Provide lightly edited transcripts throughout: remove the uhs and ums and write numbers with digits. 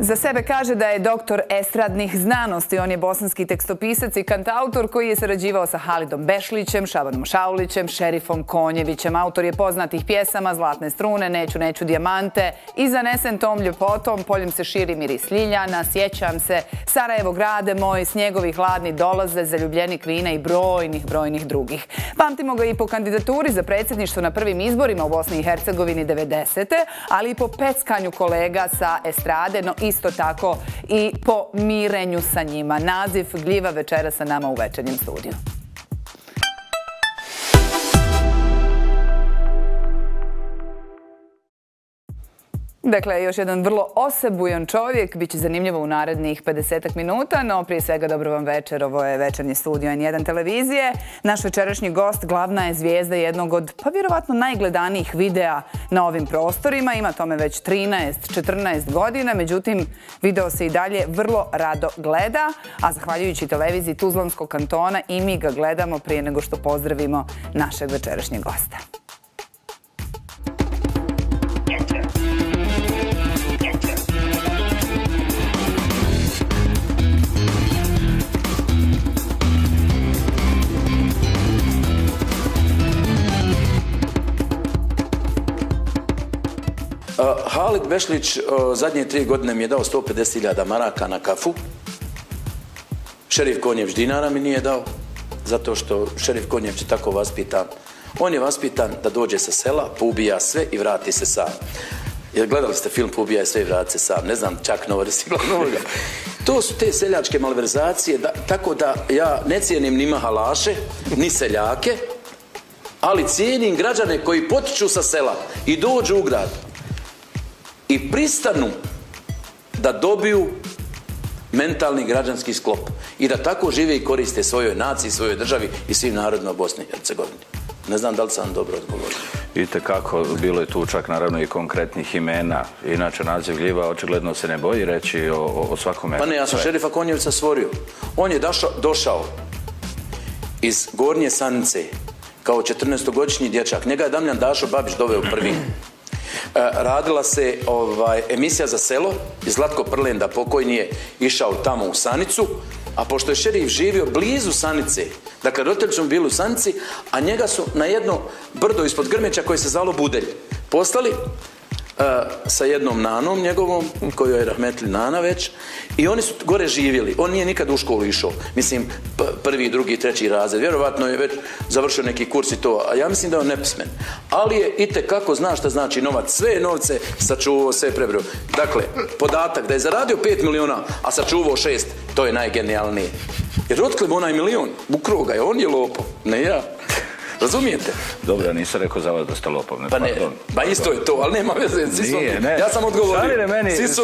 Za sebe kaže da je doktor estradnih znanosti. On je bosanski tekstopisac i kantautor koji je sarađivao sa Halidom Bešlićem, Šabanom Šaulićem, Šerifom Konjevićem. Autor je poznatih pjesama Zlatne strune, Neću dijamante i Zanesen tom ljepotom, Poljem se širi miris ljiljana, Sjećam se, Sarajevo grade moj, Snjegovi hladni dolaze, Zaljubljenik vina i brojnih drugih. Pamtimo ga i po kandidaturi za predsjedništvo na prvim izborima u Bosni i Hercegovini 90. ali i po peckanju kolega sa estrade, no isto tako i po mirenju sa njima. Naziv gljiva večera sa nama u večernjem studiju. Dakle, još jedan vrlo osebujan čovjek, bit će zanimljivo u narednih 50 minuta, no prije svega dobro vam večer, ovo je večernji studio N1 televizije. Naš večerašnji gost glavna je zvijezda jednog od, pa vjerovatno najgledanijih videa na ovim prostorima, ima tome već 13-14 godina, međutim video se i dalje vrlo rado gleda, a zahvaljujući televiziji Tuzlanskog kantona i mi ga gledamo prije nego što pozdravimo našeg večerašnjeg gosta. Halid Bešlić zadnje 3 godine mi je dao 150.000 maraka na kafu. Šerif Konjević dinara mi nije dao, zato što Šerif Konjević je tako vaspitan. On je vaspitan da dođe sa sela, poubija sve i vrati se sam. Jer gledali ste film Poubijaj sve i vrati se sam, ne znam, čak Novorisila novoga. To su te seljačke malverzacije, tako da ja ne cijenim ni mahalaše, ni seljake, ali cijenim građane koji potiču sa sela i dođu u grad i pristanu da dobiju mentalni građanski sklop i da tako žive i koriste svojoj naciji, svojoj državi i svim narodima Bosne i Hercegovine. Ne znam da li sam dobro odgovorio. Vidite kako, bilo je tu čak naravno i konkretnih imena. Inače, naziv gljiva očigledno se ne boji reći o svakome. Pa ne, ja sam Šerifa Konjevića stvorio. On je došao iz Gornje Sanice kao 14-godišnji dječak. Njega je Damljan Dašo Babić doveo prvi. Radila se emisija za selo i Zlatko Prlenda pokojni je išao tamo u Sanicu, a pošto je Šerif živio blizu Sanice, dakle roditelji su bili u Sanici, a njega su na jedno brdo ispod Grmeća koje se zvalo Budelj poslali sa jednom nanom njegovom, koju je rahmetli nana već, i oni su gore živjeli. On nije nikad u školu išao, mislim prvi, drugi, treći razred, vjerovatno je već završio neki kurs i to, a ja mislim da je on nepismen, ali je itekako zna šta znači novac, sve novce sačuvao, sve prebrio. Dakle, podatak da je zaradio 5 miliona, a sačuvao 6, to je najgenijalnije. Jer otkle onaj milion, ukrao ga je, on je lopov, ne ja. Razumijete? Dobro, nisam rekao za vas da ste lopov. Pa ne, ba isto je to, ali nema veze. Ja sam odgovorio.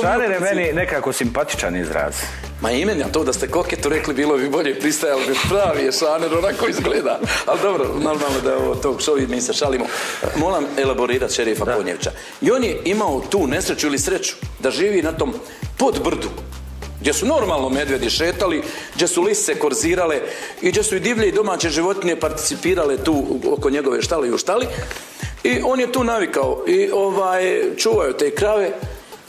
Šalire meni nekako simpatičan izraz. Ma i meni, a to da ste koketu rekli, bilo bi bolje, pristajalo bi pravi je šaner, onako izgleda. Ali dobro, normalno da je ovo talk show i mi se šalimo. Moram elaborirati Šerifa Konjevića. I on je imao tu nesreću ili sreću da živi na tom podbrdu, gdje su normalno medvjedi šetali, gdje su lisice korzirale i gdje su i divlje i domaće životinje participirale tu oko njegove štale i u štali. I on je tu navikao i čuvaju te krave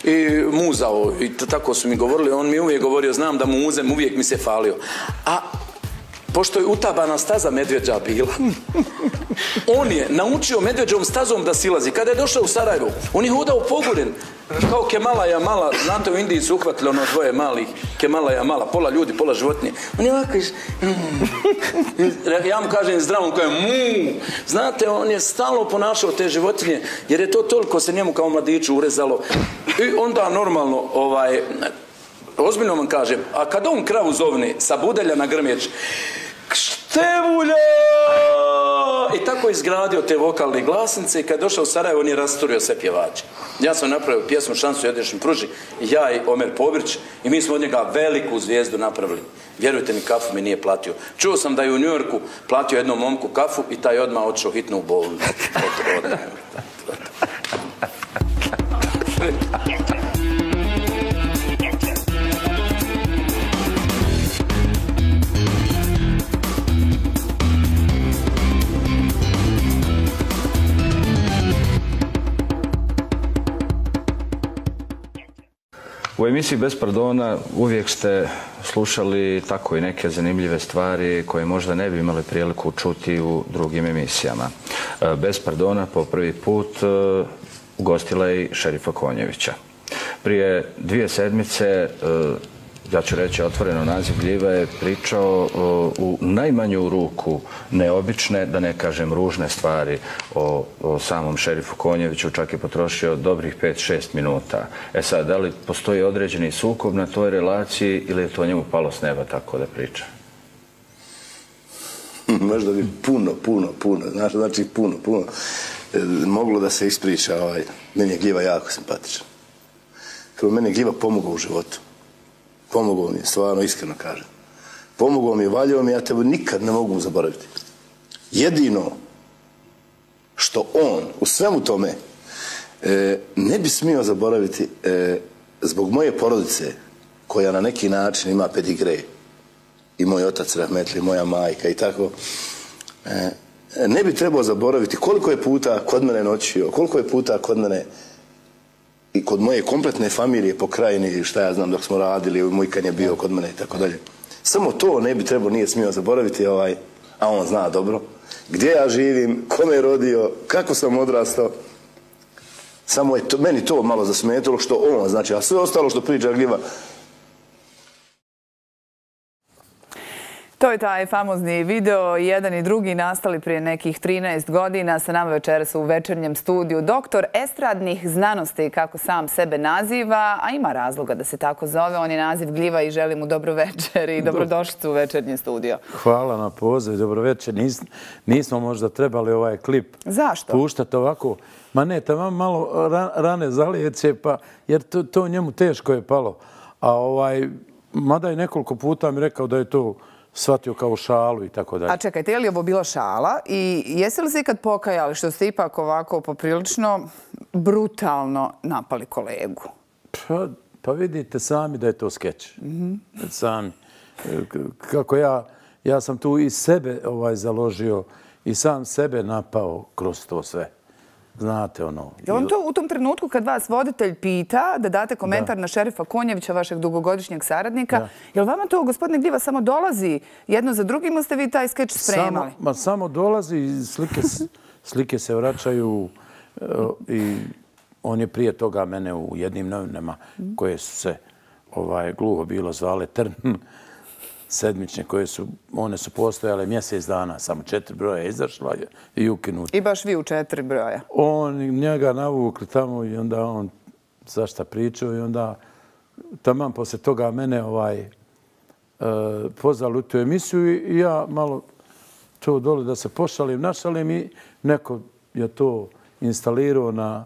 i muzao, i tako su mi govorili, on mi uvijek govorio, znam da muzem, uvijek mi se falio. A pošto je utabana staza medvjeđa bila, on je naučio medvjeđom stazom da silazi. Kada je došao u Sarajevo, on je hodao poguren, kao Kemalaja mala, znate u Indiji su uhvatili ono dvoje malih, Kemalaja mala, pola ljudi, pola životinje. On je ovako ja mu kažem zdravo, on kaže mu. Znate, on je stalno ponašao te životinje, jer je to toliko se njemu kao mladiću urezalo. I onda normalno, ozbiljno vam kažem, a kad on kravu zovne sa Budelja na Grmeć, Števulja! I tako je izgradio te vokalne glasnice i kad je došao u Sarajevo, on je rasturio sve pjevače. Ja sam napravio pjesmu Šansu jedešim pruži, ja i Omer Pobrić, i mi smo od njega veliku zvijezdu napravili. Vjerujte mi, kafu mi nije platio. Čuo sam da je u New Yorku platio jednom momku kafu i taj odmah otišao hitno u bolnicu. U emisiji Bez pardona uvijek ste slušali tako i neke zanimljive stvari koje možda ne bi imali priliku čuti u drugim emisijama. Bez pardona po prvi put ugostila je i Šerifa Konjevića. Prije 2 sedmice, ja ću reći otvoreno, naziv gljiva je pričao u najmanju ruku neobične, da ne kažem ružne stvari o samom Šerifu Konjeviću, čak je potrošio dobrih 5-6 minuta. E sad, da li postoji određeni sukob na toj relaciji ili je to njemu palo s neba tako da priča? Možda bi puno, znači puno, moglo da se ispriča. Meni je gljiva jako simpatičan. Kao meni je gljiva pomogao u životu. Pomogao mi je, stvarno, iskreno kažem. Pomogao mi je, valjao mi, ja tebe nikad ne mogu zaboraviti. Jedino što on u svemu tome ne bi smio zaboraviti zbog moje porodice, koja na neki način ima pedigre, i moj otac rahmetli, moja majka i tako, ne bi trebao zaboraviti koliko je puta kod mene noćio, koliko je puta kod mene i kod moje kompletne familije po krajini, šta ja znam, dok smo radili, moj kan je bio kod mene i tako dalje. Samo to ne bi trebao, nije smio zaboraviti, a on zna dobro gdje ja živim, ko me je rodio, kako sam odrastao. Samo je meni to malo zasmetalo što on, znači, a sve ostalo što priča gljiva. To je taj famozni video, jedan i drugi nastali prije nekih 13 godina. Sa nama večeras u večernjem studiju doktor estradnih znanosti, kako sam sebe naziva, a ima razloga da se tako zove. On je naziv gljiva i želim mu dobro večer i dobrodošlicu u večernje studio. Hvala na poziv, dobro večer. Nismo možda trebali ovaj klip puštati ovako. Ma ne, tamo malo rane zalijeće, jer to njemu teško je palo. A mada je nekoliko puta mi rekao da je to shvatio kao šalu i tako dalje. A čekajte, je li ovo bila šala i jeste li se ikad pokajali što ste ipak ovako poprilično brutalno napali kolegu? Pa vidite sami da je to skeč. Sami. Kako ja sam tu i sebe založio i sam sebe napao kroz to sve. Znate ono... Je on to u tom trenutku kad vas voditelj pita da date komentar na Šerifa Konjevića, vašeg dugogodišnjeg saradnika, je li vama to, gospodine Gljiva, samo dolazi jedno za drugim ili ste vi taj skeč spremali? Samo dolazi i slike se vraćaju i on je prije toga mene u jednim novinama koje su se gluho bilo zvale Trn, sedmične, one su postojale mjesec dana, samo 4 broja izašla i ukinuti. I baš vi u 4 broja? On njega navukli tamo i onda on zašta pričao i onda taman poslije toga mene pozvali u tu emisiju i ja malo to dole da se pošalim, našalim i neko je to instalirao na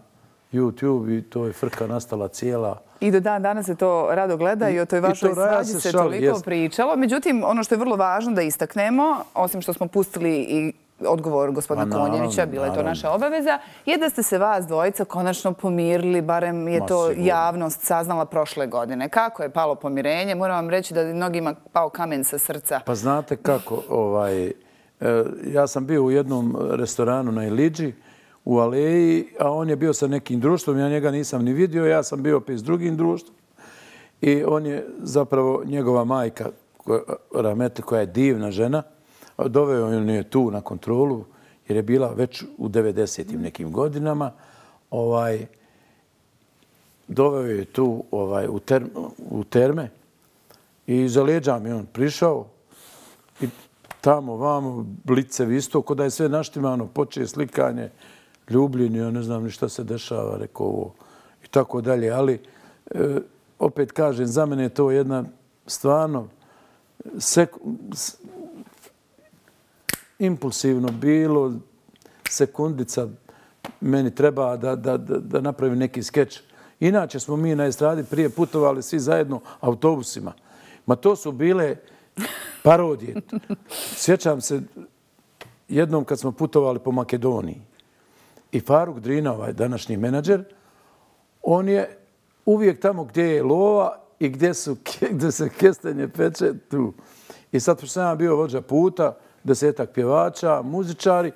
YouTube i to je frka nastala cijela. I do dan danas se to rado gleda i o toj vašoj svađi se toliko pričalo. Međutim, ono što je vrlo važno da istaknemo, osim što smo pustili i odgovor gospodina Konjevića, bila je to naša obaveza, je da ste se vas dvojica konačno pomirili, barem je to javnost saznala prošle godine. Kako je palo pomirenje? Moram vam reći da je mnogima pao kamen sa srca. Pa znate kako, ja sam bio u jednom restoranu na Iliđi, u Aleji, a on je bio sa nekim društvom, ja njega nisam ni vidio, ja sam bio opet s drugim društvom. I on je zapravo njegova majka, rahmetli, koja je divna žena, doveo on je tu na kontrolu, jer je bila već u 90-im nekim godinama. Doveo je tu u terme i za leđa mi on prišao i tamo, vamo, blicevi isto, kod da je sve naštimano, počeje slikanje, ljubljenje, ja ne znam ni šta se dešava, rekao ovo i tako dalje. Ali, opet kažem, za mene je to jedna stvarno impulsivno bilo, sekundica meni treba da napravim neki skeč. Inače smo mi na estradi prije putovali svi zajedno autobusima. Ma to su bile parodije. Sjećam se jednom kad smo putovali po Makedoniji i Faruk Drina, današnji menadžer, on je uvijek tamo gdje je lova i gdje se kestenje peče tu. I sad sam ja bio vođa puta, 10-ak pjevača, muzičari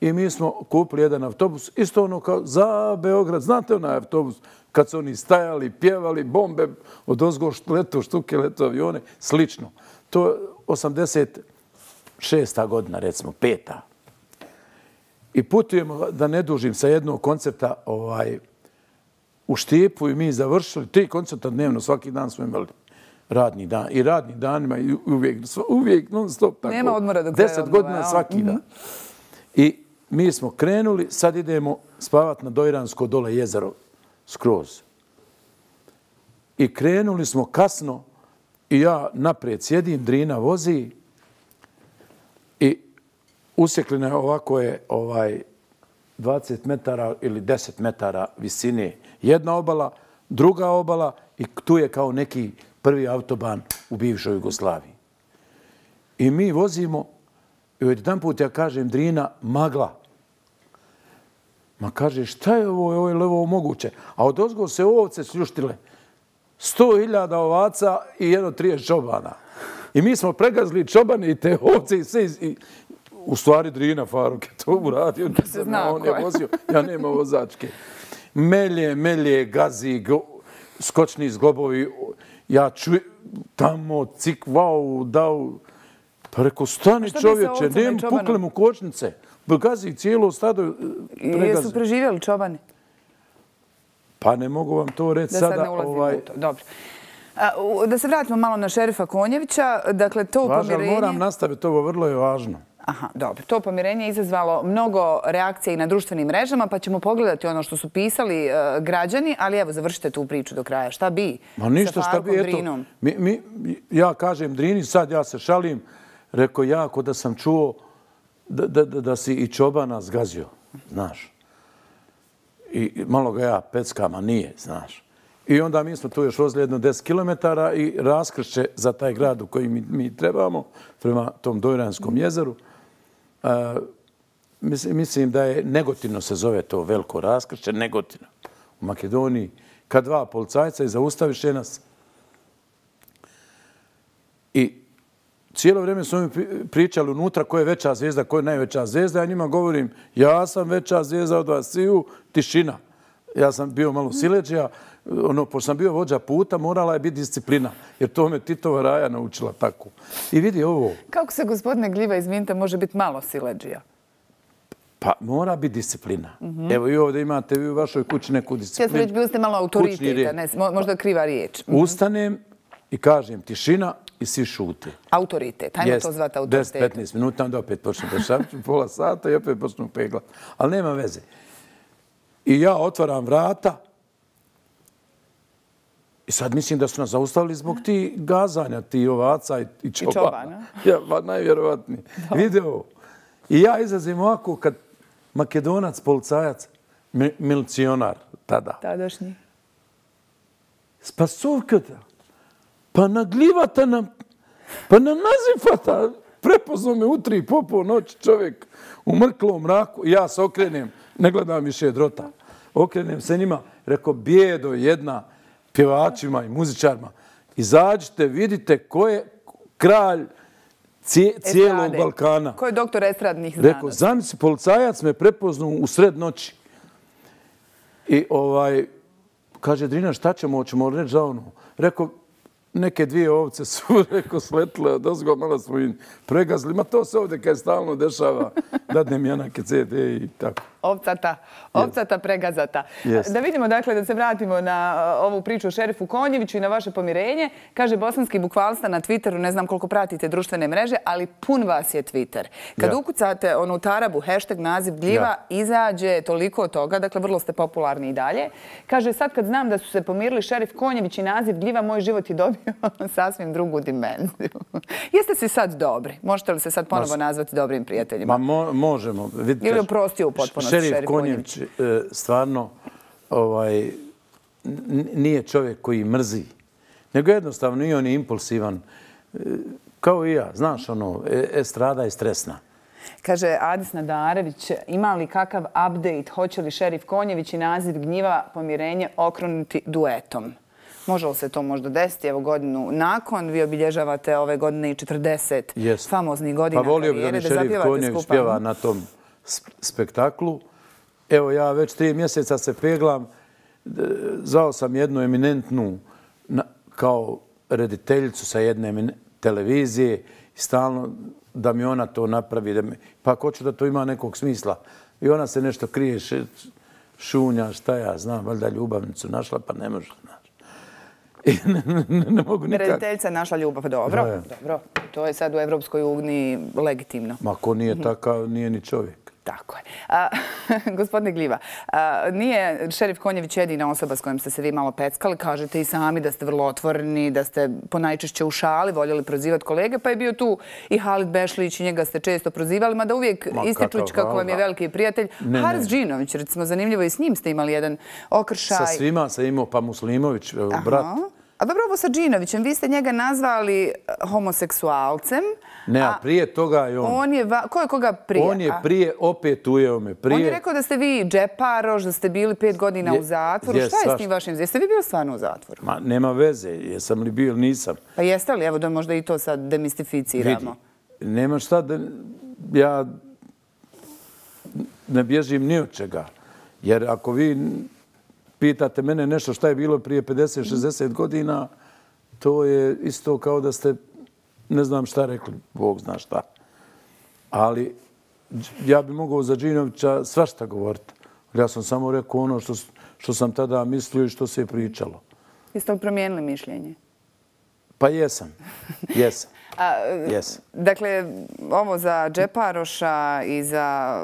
i mi smo kupili jedan autobus, isto ono kao za Beograd. Znate onaj autobus kad su oni stajali, pjevali, bombe od ozgo leto, štuke leto, avione, slično. To je 86. godina, recimo, 5. I putujemo, da ne dužim, sa jednog koncerta u Štipu i mi završili 3 koncerta dnevno, svaki dan smo imali radni dan. I radni danima i uvijek non stop tako. Nema odmora do kraja 10 godina svaki dan. I mi smo krenuli, sad idemo spavati na Dojransko dole jezero, skroz. I krenuli smo kasno i ja naprijed sjedim, Drina vozi i usjekljena je ovako je 20 metara ili 10 metara visine jedna obala, druga obala i tu je kao neki prvi autoban u bivšoj Jugoslaviji. I mi vozimo i jedan put ja kažem Drina, magla. Ma kaže, šta je ovo je li ovo moguće? A od ozgo se ovce sljuštile. 100.000 ovaca i 30 čobana. I mi smo pregazili čobane i te ovce i sve. U stvari Drina Faruk je to uradio. On je vozio. Ja nema vozačke. Melje, gazi, skočni zglobovi. Ja čujem tamo cik, vau, dao. Pa rekao, stani čovječe, nema pukle mu kočnice. Gazi cijelo stado pregazi. Jesu preživjeli čobani? Pa ne mogu vam to reći sada. Da sad ne ulazimo u to. Dobro. Da se vratimo malo na šerifa Konjevića. Dakle, to pomirenje... Važno, moram nastaviti, ovo vrlo je važno. Aha, dobro. To pomirenje je izazvalo mnogo reakcija i na društvenim mrežama, pa ćemo pogledati ono što su pisali građani, ali evo, završite tu priču do kraja. Šta bi sa Farkom Drinom? Ja kažem Drini, sad ja se šalim, rekao jako da sam čuo da si i čobana zgazio, znaš. I malo ga ja peckam, a nije, znaš. I onda mi smo tu još vozili jedno 10 kilometara i raskršće za taj grad u koji mi trebamo, prema tom Dojranskom jezeru. Mislim da je Negotino se zove to veliko raskršće, Negotino u Makedoniji. Kad 2 policajca i zaustaviše nas. I cijelo vrijeme su mi pričali unutra ko je veća zvijezda, ko je najveća zvijezda. Ja njima govorim, ja sam veća zvijezda od vas sviju, tišina. Ja sam bio malo sileđija, pošto sam bio vođa puta, morala je biti disciplina, jer to me Titova Raja naučila tako. I vidi ovo. Kako se, gospodine Gljiva, izvinite, može biti malo sileđija? Pa mora biti disciplina. Evo i ovdje imate vi u vašoj kući neku disciplinu. Ja sam bili ste malo autoriteta, možda kriva riječ. Ustanem i kažem tišina i svi šute. Autoritet, hajmo to zvati autoritetom. 10-15 minuta, onda opet počnem dešavati, pola sata i opet počnem peglati. Ali nema veze. I ja otvaram vrata i sad mislim da su nas zaustavili zbog ti gazanja, ti ovaca i čobana. Ja, pa najvjerovatniji. Video. I ja izlazim ovako kad Makedonac, policajac, milicionar tada. Tadašnji. Spasovkata. Pa naglivata nam, pa na nazifata. Prepoznao me u 3 po noći čovjek u mrklom mraku. Ja se okrenem, ne gledam više drota. Okrenem se njima, rekao, bijedo jedna pjevačima i muzičarima. Izađite, vidite ko je kralj cijelog Balkana. Ko je doktor estradnih znanosti? Rekao, zamisli, policajac me prepoznao u sred noći. I kaže, Drina, šta ćemo reći za ono? Rekao, neke 2 ovce su, rekao, sletile od ozgo, malo smo im pregazili. Ma to se ovdje kaj stalno dešava. Dadnem Janake CD i tako. Ovcata pregazata. Da vidimo, dakle, da se vratimo na ovu priču o šerifu Konjeviću i na vaše pomirenje. Kaže bosanski bukvalista na Twitteru, ne znam koliko pratite društvene mreže, ali pun vas je Twitter. Kad ukucate onu tarabu, hashtag naziv Gljiva, izađe toliko toga, dakle, vrlo ste popularni i dalje. Kaže, sad kad znam da su se pomirili šerif Konjević i naziv Gljiva, moj život je dobio sasvim drugu dimenziju. Jeste si sad dobri? Možete li se sad ponovo nazvati dobrim prijateljima? Ma možemo. Ili oprostio u potpunosti šerif Konjević stvarno nije čovjek koji mrzi, nego jednostavno i on je impulsivan. Kao i ja, znaš, estrada je stresna. Kaže Adis Nadarević, ima li kakav update, hoće li šerif Konjević i naziv Gljiva pomirenje okruniti duetom? Može li se to možda desiti? Evo godinu nakon, vi obilježavate ove godine i 40 famoznih godina karijere. Pa volio bi da mi šerif Konjević pjeva na tom spektaklu. Evo, ja već 3 mjeseca se peglam. Zvao sam jednu eminentnu kao rediteljicu sa jedne televizije i stalno da mi ona to napravi. Pa ako hoću da to ima nekog smisla. I ona se nešto krije, šunja, šta ja znam, valjda ljubavnicu našla, pa ne može. I ne mogu nikak. Rediteljica je našla ljubav. Dobro. To je sad u Evropskoj uniji legitimno. Ma ko nije takav, nije ni čovjek. Tako je. Gospodine Gljiva, nije šerif Konjević jedina osoba s kojom ste se vi malo peckali. Kažete i sami da ste vrlo otvoreni, da ste ponajčešće u šali voljeli prozivati kolege, pa je bio tu i Halid Bešlić i njega ste često prozivali, mada uvijek ističući kako vam je veliki prijatelj. Haris Džinović, recimo, zanimljivo, i s njim ste imali jedan okršaj. Sa svima sam imao, pa Muslimović, brat. A dobro, ovo sa Džinovićem, vi ste njega nazvali homoseksualcem. Ne, a prije toga je on. Ko je koga prije? On je prije, opet ujeo me prije. On je rekao da ste vi džeparoš, da ste bili 5 godina u zatvoru. Šta je s tim vašim? Jeste vi bili stvarno u zatvoru? Ma, nema veze. Jesam li bio ili nisam. Pa jeste li? Evo da možda i to sad demistificiramo. Vidi, nema šta da... Ja ne bježim ni od čega. Jer ako vi pitate mene nešto šta je bilo prije 50-60 godina, to je isto kao da ste ne znam šta rekli, Bog zna šta. Ali ja bi mogao za Džinovića svašta govoriti. Ja sam samo rekao ono što sam tada mislio i što se je pričalo. Jeste li promijenili mišljenje? Pa jesam. Jesam. Dakle, ovo za džeparoša i za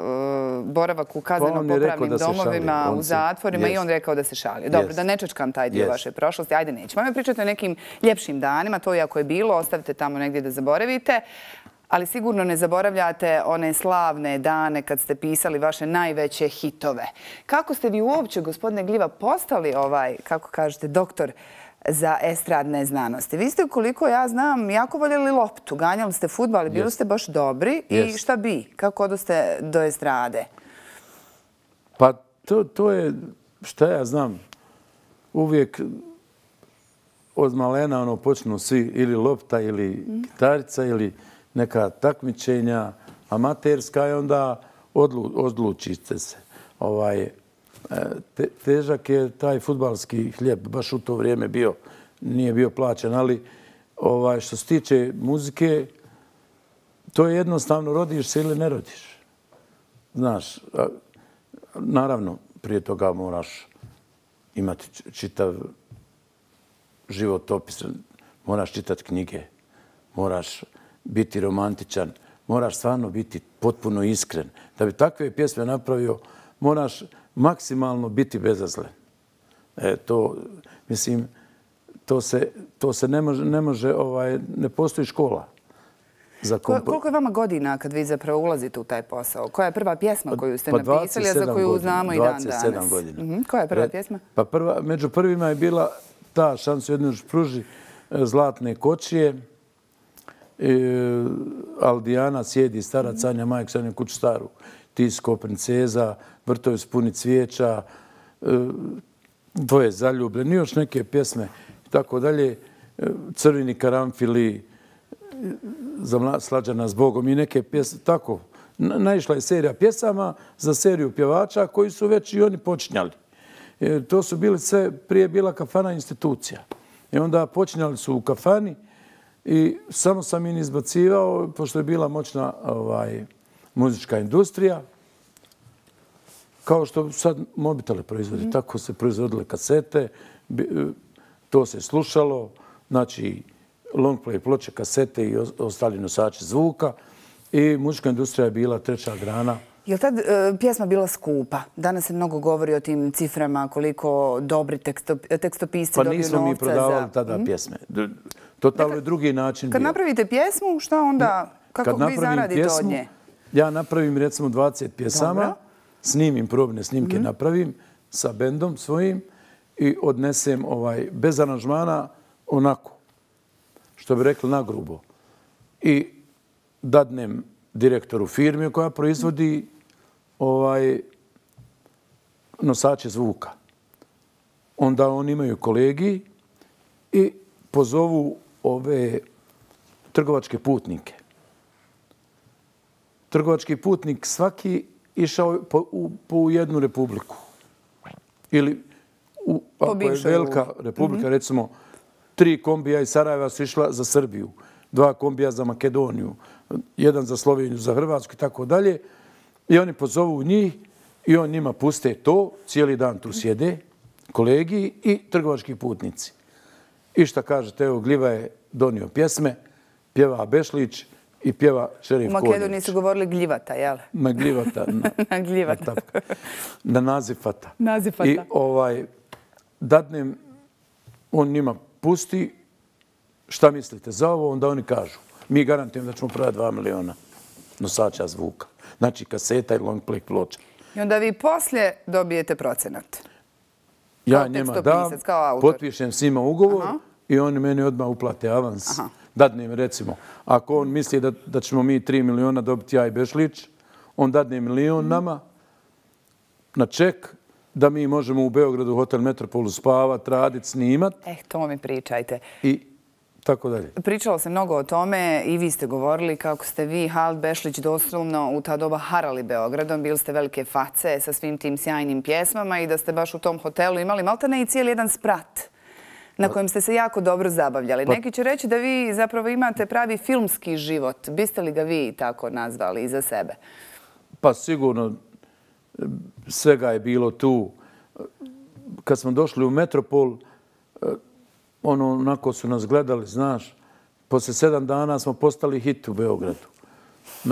boravak u kazneno-popravnim domovima, u zatvorima, i on rekao da se šalio. Dobro, da ne čačkam taj dio vaše prošlosti. Ajde, nećemo. Ajme pričati o nekim ljepšim danima. To i ako je bilo, ostavite tamo negdje da zaboravite. Ali sigurno ne zaboravljate one slavne dane kad ste pisali vaše najveće hitove. Kako ste vi uopće, gospodine Gljiva, postali kako kažete, doktor za estradne znanosti? Vi ste, koliko ja znam, jako voljeli loptu, ganjali ste fudbal i bili ste baš dobri. I šta bi? Kako odoste do estrade? Pa to je, šta ja znam, uvijek od malena počnu svi ili lopta ili gitarica ili neka takmičenja amaterska i onda odlučite se. Težak je taj fudbalski hljeb, baš u to vrijeme bio, nije bio plaćen, ali što se tiče muzike, to je jednostavno, rodiš se ili ne rodiš. Znaš, naravno, prije toga moraš imati čitav životopis, moraš čitati knjige, moraš biti romantičan, moraš stvarno biti potpuno iskren. Da bi takve pjesme napravio, moraš maksimalno biti bezazlen. Mislim, to se ne može, ne postoji škola. Koliko je vama godina kad vi zapravo ulazite u taj posao? Koja je prva pjesma koju ste napisali, a za koju znamo i dan danas? 27 godina. Koja je prva pjesma? Pa među prvima je bila ta Šansu jednu pruži, Zlatne kočije, Aldijana sjedi, stara Canja, majka Sanja kuću staru, Tisko, princeza, Vrtovi spuni cvijeća, Dvoje zaljubljeni, još neke pjesme i tako dalje, Crveni karanfili, Slađana s Bogom i neke pjesme, tako. Naišla je serija pjesama za seriju pjevača koji su već i oni počinjali. To su bili sve, prije bila kafana institucija. I onda počinjali su u kafani i samo sam im izbacivao, pošto je bila moćna muzička industrija, kao što sad mobitele proizvodi. Tako se proizvodile kasete, to se slušalo, znači long play ploče, kasete i ostali nosači zvuka i muzička industrija je bila treća grana. Je li tad pjesma bila skupa? Danas se mnogo govori o tim ciframa, koliko dobri tekstopisci dobiju novca za... Pa nismo mi prodavali tada pjesme. Totalno je drugi način bio. Kad napravite pjesmu, šta onda, kako vi zaradite od nje? Ja napravim recimo 20 pjesama, snimim probne snimke, napravim sa bendom svojim i odnesem bez aranžmana onako, što bi rekli nagrubo. I dadnem direktoru firme koja proizvodi nosače zvuka. Onda oni imaju kolegi i pozovu ove trgovačke putnike. Trgovački putnik svaki išao po jednu republiku. Ili ako je velika republika, recimo 3 kombija iz Sarajeva su išla za Srbiju, 2 kombija za Makedoniju, 1 za Sloveniju, za Hrvatsku i tako dalje. I oni pozovu njih i on njima puste to, cijeli dan tu sjede, kolegi i trgovački putnici. I šta kažete, evo Gljiva je donio pjesme, pjeva Bešlić i pjeva Šerif Konjević. U Makedoniji su govorili Gljivata, jel? Na Gljivata. Na Gljivata. Na Nazifata. Nazifata. I dadnem, on njima pusti, šta mislite za ovo, onda oni kažu. Mi garantujemo da ćemo prodati 2 miliona nosača zvuka. Znači kaseta i long play ploča. I onda vi poslije dobijete procenat. Ja njima dam, potpišem s njima ugovor i oni meni odmah uplate avans. Dadnem, recimo, ako on misli da ćemo mi 3 miliona dobiti ja i Bešlić, on dadne milion nama na ček da mi možemo u Beogradu Hotel Metropolu spavati, raditi, snimati. To mi pričajte. I tako dalje. Pričalo se mnogo o tome i vi ste govorili kako ste vi, Halid Bešlić, doslovno u ta doba harali Beogradom, bili ste velike face sa svim tim sjajnim pjesmama i da ste baš u tom hotelu imali maltene i cijeli jedan sprat na kojem ste se jako dobro zabavljali. Neki će reći da vi zapravo imate pravi filmski život. Biste li ga vi tako nazvali iza sebe? Pa sigurno svega je bilo tu. Kad smo došli u Metropol, onako su nas gledali, znaš, poslije 7 dana smo postali hit u Beogradu.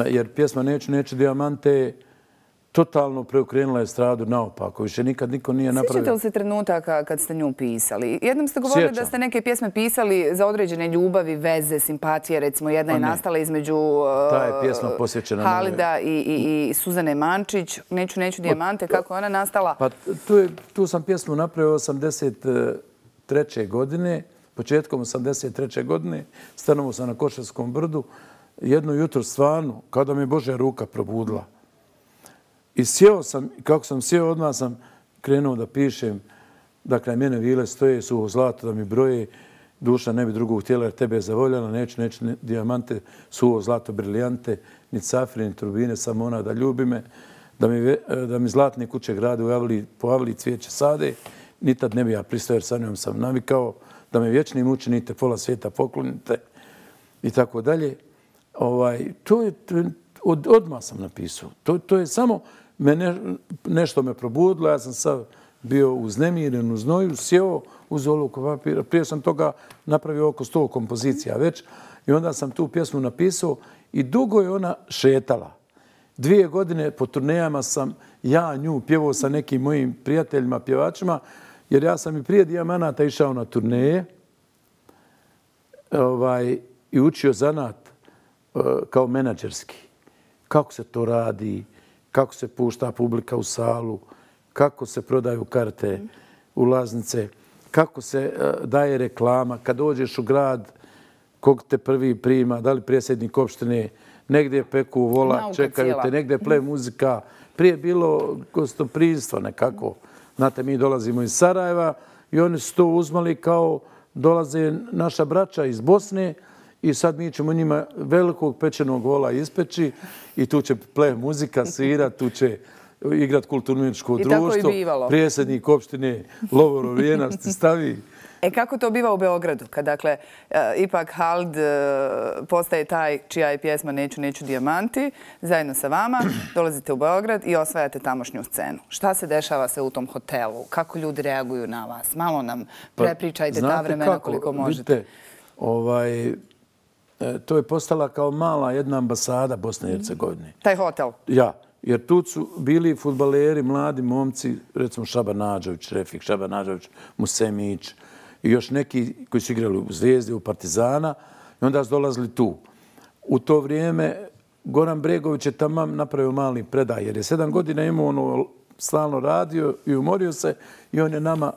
Jer pjesma Neću dijamante totalno preokrenula estradu naopako. Više nikad niko nije napravio. Sjećate li se trenutaka kad ste nju pisali? Jednom ste govorili da ste neke pjesme pisali za određene ljubavi, veze, simpatije. Recimo, jedna je nastala između Halida i Suzane Mančić. Neću dijamante. Kako je ona nastala? Pa tu sam pjesmu napravio 83. godine. Početkom 83. godine stanovao sam na Košarskom brdu. Jedno jutro stvarno, kao da mi je Božja ruka probudila. I sjeo sam, kako sam sjeo, odmah sam krenuo da pišem da kraj mene vile stoje, suho zlato da mi broje, duša ne bi drugog htjela jer tebe je zavoljala, neću dijamante, suho zlato, briljante, ni cafre, ni turbine, samo ona da ljubi me, da mi zlatne kuće grade po Avliji cvijeće sade, ni tad ne bi ja pristao jer sa njom sam navikao, da me vječni mučenite, pola svijeta poklonite i tako dalje. To je odmah sam napisao. To je samo nešto me probudilo. Ja sam sad bio uznemiren, u znoju, sjeo uz olovku papira. Prije sam toga napravio oko 100 kompozicija već i onda sam tu pjesmu napisao i dugo je ona šetala. 2 godine po turnejama sam ja nju pjevao sa nekim mojim prijateljima, pjevačima, jer ja sam i prije Dijamanata išao na turneje i učio zanat kao menadžerski. Kako se to radi, kako se pušta publika u salu, kako se prodaju karte, ulaznice, kako se daje reklama. Kad dođeš u grad, kog te prvi prima, da li predsjednik opštine, negdje peku vola, čekaju te, negdje ple muzika. Prije je bilo gostoprimstvo nekako. Znate, mi dolazimo iz Sarajeva i oni su to uzmali kao dolaze naša braća iz Bosne i sad mi ćemo njima velikog pečenog vola ispeći i tu će ple muzika svirati, tu će igrat kulturno-umjetničko društvo. Predsjednik opštine Lovro Vijenac ti stavi. Kako to biva u Beogradu? Kad, dakle, ipak Halid postaje taj čija je pjesma Neću dijamanti, zajedno sa vama dolazite u Beograd i osvajate tamošnju scenu. Šta se dešava se u tom hotelu? Kako ljudi reaguju na vas? Malo nam prepričajte ta vremena koliko možete. Vidite, to je postala kao mala jedna ambasada Bosne i Hercegovine. Taj hotel? Ja, jer tu su bili fudbaleri, mladi momci, recimo Šaban Nađović, Refik Šaban Nađović, Musemić i još neki koji su igrali u Zvijezdi, u Partizana i onda su dolazili tu. U to vrijeme Goran Bregović je tamo napravio mali predaj jer je 7 godina imao ono stalno radio i umorio se i on je nama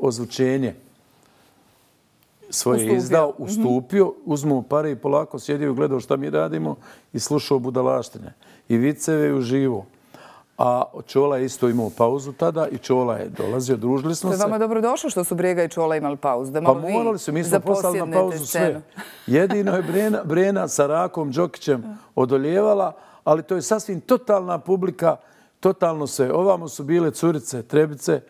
ozvučenje svoje izdao, ustupio, uzmao pare i polako sjedio i gledao šta mi radimo i slušao budalaštine. I viceve i uživo. A Čola je isto imao pauzu tada i Čola je dolazio, družili smo se. To je vama dobro došlo što su Brega i Čola imali pauzu. Pa morali su, mi smo poslali na pauzu sve. Jedino je Brena sa Rakom Đokićem odoljevala, ali to je sasvim totalna publika, totalno sve. Ovamo su bile curice, trebice,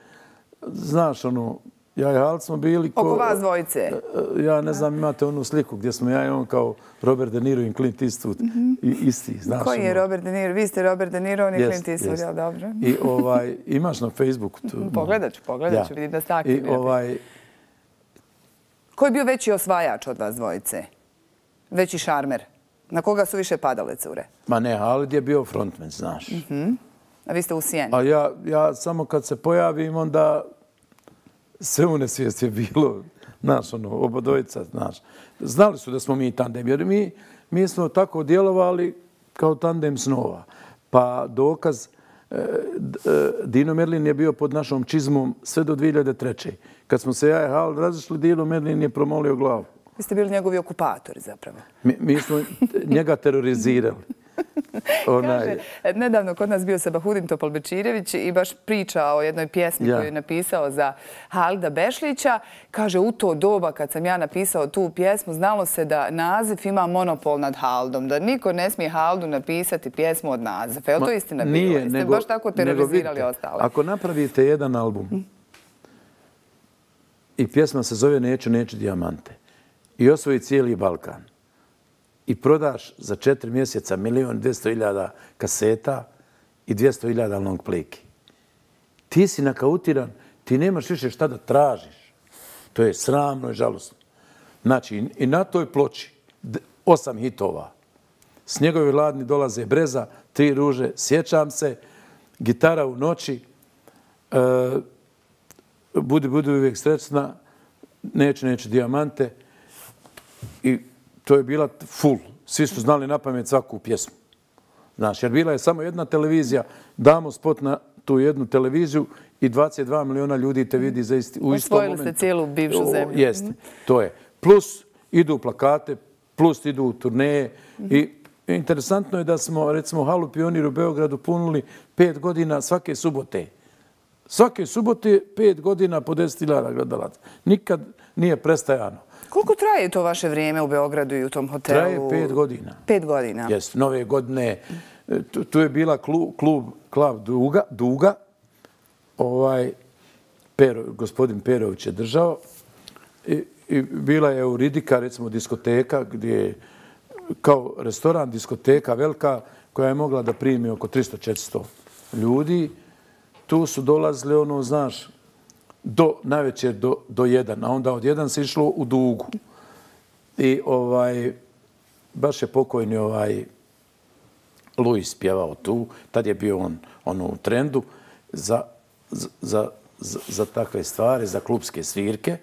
znaš, ono, ja i Halit smo bili... Oko vas dvojice? Ja ne znam, imate onu sliku gdje smo ja i on kao Robert De Niro i Clint Eastwood isti, znaš. Koji je Robert De Niro? Vi ste Robert De Niro, on je Clint Eastwood, jel dobro? I imaš na Facebooku tu? Pogledat ću, vidim da ste aktivni. Ko je bio veći osvajač od vas dvojice? Veći šarmer? Na koga su više padale cure? Ma ne, Halit je bio frontman, znaš. A vi ste u sjeni? A ja samo kad se pojavim, onda sve u nesvijest je bilo, znaš, oba dvojica, znaš. Znali su da smo mi tandem, jer mi smo tako djelovali kao tandem snova. Pa dokaz, Dino Merlin je bio pod našom čizmom sve do 2003. Kad smo se ja i Halit razišli, Dino Merlin je promolio glavu. Vi ste bili njegovi okupatori zapravo. Mi smo njega terorizirali. Kaže, nedavno kod nas bio Sabahudin Topalbečirević i baš priča o jednoj pjesmi koju je napisao za Halida Bešlića. Kaže, u to doba kad sam ja napisao tu pjesmu, znalo se da Nazif ima monopol nad Halidom, da niko ne smije Halidu napisati pjesmu od Nazifa. Je li to istina bilo? Jeste baš tako terorizirali ostale? Ako napravite jedan album i pjesma se zove Neću dijamante i osvoji cijeli Balkan, i prodaš za 4 mjeseca 1.200.000 kaseta i 200.000 long playki. Ti si nakautiran, ti nemaš više šta da tražiš. To je sramno i žalosno. Znači, i na toj ploči 8 hitova. S njegove Ladni dolaze breza, 3 ruže, sjećam se, Gitara u noći, Budi uvijek srećna, Neću dijamante. I to je bila full. Svi su znali na pamet svaku pjesmu. Znaš, jer bila je samo jedna televizija, damo spot na tu jednu televiziju i 22 miliona ljudi te vidi u istom momentu. Osvojili ste cijelu bivšu zemlju. Jeste, to je. Plus idu plakate, plus idu turneje. I interesantno je da smo, recimo, Halu Pionir u Beogradu punili 5 godina svake subote. Svake subote 5 godina po 10.000 gledalaca. Nikad nije prestajano. Koliko traje to vaše vrijeme u Beogradu i u tom hotelu? Traje 5 godina. 5 godina? Jeste, nove godine. Tu je bila klub Duga. Gospodin Perović je držao. I bila je Euridika, recimo diskoteka, gdje je kao restoran, diskoteka velika, koja je mogla da primi oko 300-400 ljudi. Tu su dolazili, znaš, najveće do 1, a onda od 1 se išlo u Dugu. I baš je pokojni Luis pjevao tu, tad je bio on u trendu za takve stvari, za klubske svirke.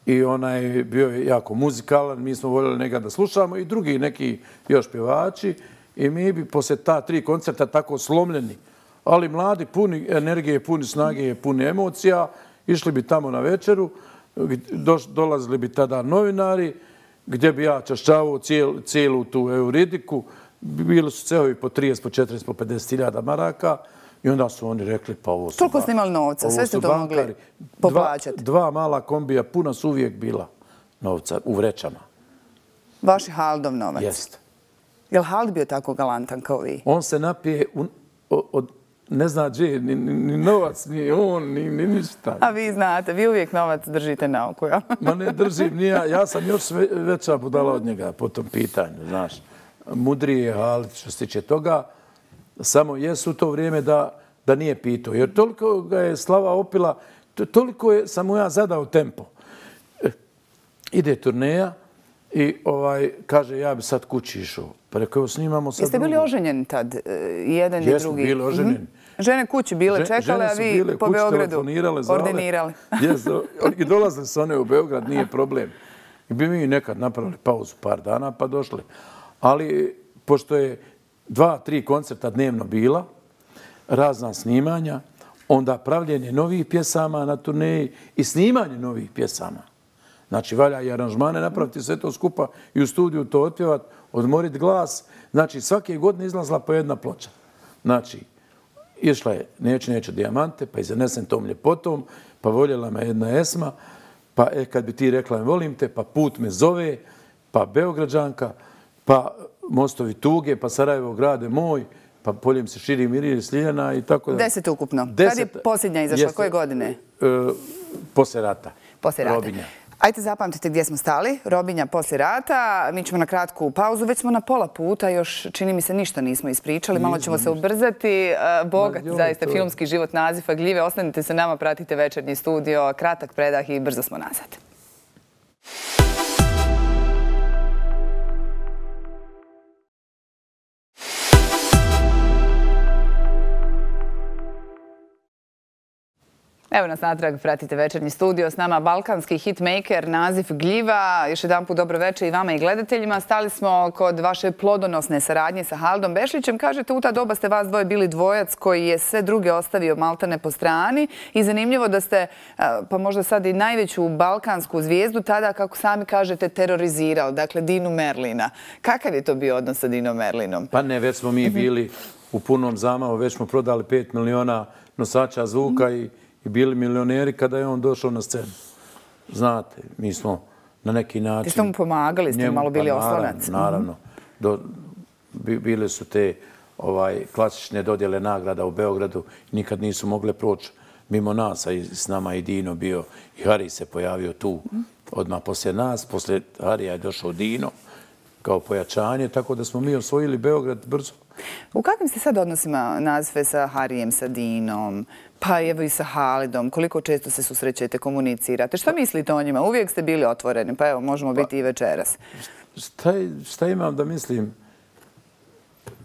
I onaj bio je jako muzikalan, mi smo voljeli njega da slušamo i drugi neki još pjevači. I mi bi poslije ta 3 koncerta tako slomljeni, ali mladi, puni energije, puni snage, puni emocija, išli bi tamo na večeru, dolazili bi tada novinari, gdje bi ja čašćavao cijelu tu Euridiku. Bili su cehovi po 30, po 40, po 50.000 maraka i onda su oni rekli pa ovo su... Toliko ste imali novca, sve ste to mogli poplaćati. 2 mala kombija, puna su uvijek bila novca u vrećama. Vaš je Halidov novac? Jeste. Je li Halid bio tako galantan kao vi? On se napije od ne zna gdje, ni novac, ni on, ni ništa. A vi znate, vi uvijek novac držite na oku, ja? Ma ne držim, ni ja. Ja sam još veća budala od njega po tom pitanju, znaš. Mudriji je Halit što se tiče toga. Samo jesu u to vrijeme da nije pitao. Jer toliko ga je slava opila, toliko sam mu ja zadao tempo. Ide turneja i kaže ja bi sad kući išao. Pa rekao, evo snimamo sad... Jeste bili oženjeni tad, jedan i drugi? Jesmo bili oženjeni. Žene kući bile čekale, a vi po Beogradu ordinirali. I dolazili su one u Beograd, nije problem. I bi mi nekad napravili pauzu par dana pa došli. Ali pošto je 2-3 koncerta dnevno bila, razna snimanja, onda pravljenje novih pjesama na turneji i snimanje novih pjesama. Znači, valja i aranžmane napraviti sve to skupa i u studiju to otpjevati, odmoriti glas. Znači, svake godine izlazila po jedna ploča. Znači, išla je Neću dijamante, pa Izanesem tom ljepotom, pa voljela me jedna Esma, pa kad bi ti rekla volim te, pa Put me zove, pa Beograđanka, pa Mostovi tuge, pa Sarajevo grade moj, pa Poljem se širi Mirije Sliljana i tako da. 10 ukupno. Kad je posljednja izašla? Koje godine? Poslije rata. Poslije rata. Robinja. Ajde zapamtite gdje smo stali. Robinja poslije rata. Mi ćemo na kratku pauzu. Već smo na pola puta. Još čini mi se ništa nismo ispričali. Malo ćemo se ubrzati. Bogat zaista filmski život Nazifa Gljive. Ostanite se nama, pratite Večernji studio. Kratak predah i brzo smo nazad. Evo nas natrag, pratite Večernji studio. S nama balkanski hitmaker Nazif Gljiva. Još jedan put dobro večer i vama i gledateljima. Stali smo kod vaše plodonosne saradnje sa Halidom Bešlićem. Kažete, u ta doba ste vas dvoje bili dvojac koji je sve druge ostavio maltene po strani. I zanimljivo da ste, pa možda sad i najveću balkansku zvijezdu, tada, kako sami kažete, terorizirali. Dakle, Dinu Merlina. Kakav je to bio odnos sa Dinom Merlinom? Pa ne, već smo mi bili u punom zamahu. Već smo prodali 5 miliona nosača zvuka i bili milioneri kada je on došao na scenu. Znate, mi smo na neki način... Ti ste mu pomagali, ste malo bili oslonac. Naravno. Bile su te klasične dodjele nagrada u Beogradu. Nikad nisu mogle proći mimo nas, a s nama i Dino bio. I Hari se pojavio tu odmah poslije nas. Poslije Harija je došao Dino kao pojačanje, tako da smo mi osvojili Beograd brzo. U kakvim ste sad odnosima Nazife sa Harijem, sa Dinom, pa evo i sa Halidom? Koliko često se susrećete, komunicirate? Šta mislite o njima? Uvijek ste bili otvoreni, pa evo, možemo biti i večeras. Šta imam da mislim?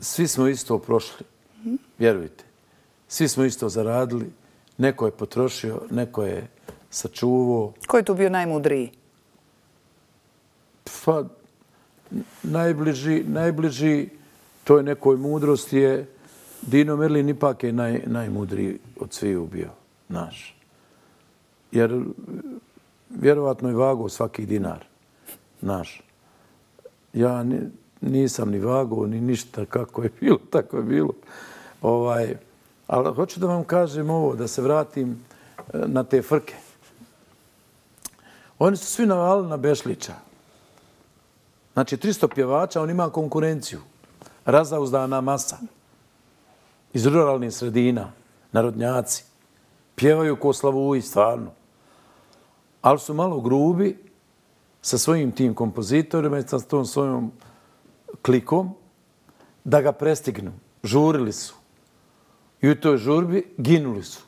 Svi smo isto prošli, vjerujte. Svi smo isto zaradili. Neko je potrošio, neko je sačuvao. Ko je tu bio najmudriji? Pa, najbliži toj nekoj mudrosti je Dino Merlin ipak je najmudriji od sviju bio naš. Jer vjerovatno je vagao svaki dinar naš. Ja nisam ni vagao, ni ništa, kako je bilo, tako je bilo. Ali hoću da vam kažem ovo, da se vratim na te frke. Oni su svi navalili na Bešlića. Znači, 300 pjevača, on ima konkurenciju. Razauzdana masa. Iz ruralnih sredina, narodnjaci. Pjevaju ko Slavuji, stvarno. Ali su malo grubi sa svojim tim kompozitorima i sa tom svojom klikom da ga prestignu. Žurili su. I u toj žurbi ginuli su.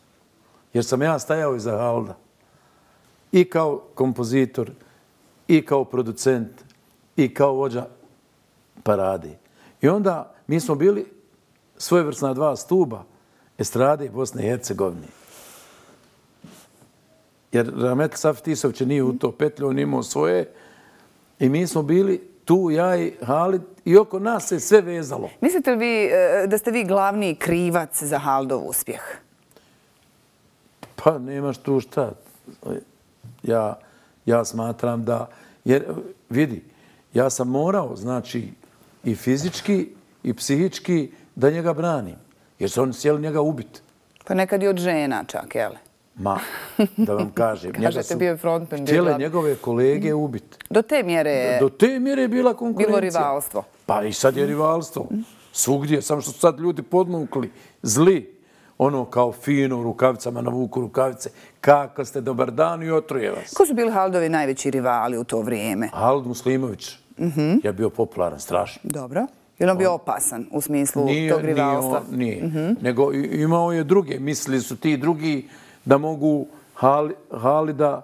Jer sam ja stajao iza Halida. I kao kompozitor, i kao producent, i kao vođa parade. I onda mi smo bili svojevrsna dva stuba estrade Bosne i Hercegovine. Jer Rahmetli Safet Tisović nije u to petlju, on imao svoje. I mi smo bili tu, ja i Halid, i oko nas se sve vezalo. Mislite li vi da ste vi glavni krivac za Halidov uspjeh? Pa nemaš tu šta. Ja smatram da... Jer vidi, ja sam morao, znači, i fizički i psihički da njega branim. Jer su oni sjeli njega ubiti. Pa nekad i od žena čak, jel? Ma, da vam kažem. Kažete, bio je frontman. Htjele njegove kolege ubiti. Do te mjere... Do te mjere je bila konkurencija. Bilo rivalstvo. Pa i sad je rivalstvo. Svugdje, samo što su sad ljudi podmukli, zli. Ono kao fino u rukavicama, navuku rukavice. Kako ste, dobar dan i otruje vas. Ko su bili Halidovi najveći rivali u to vrijeme? Halid Muslimović je bio popularan, strašno. Dobro. Je li on bio opasan u smislu tog rivalstva? Nije. Nego imao je druge. Mislili su ti drugi da mogu Halida,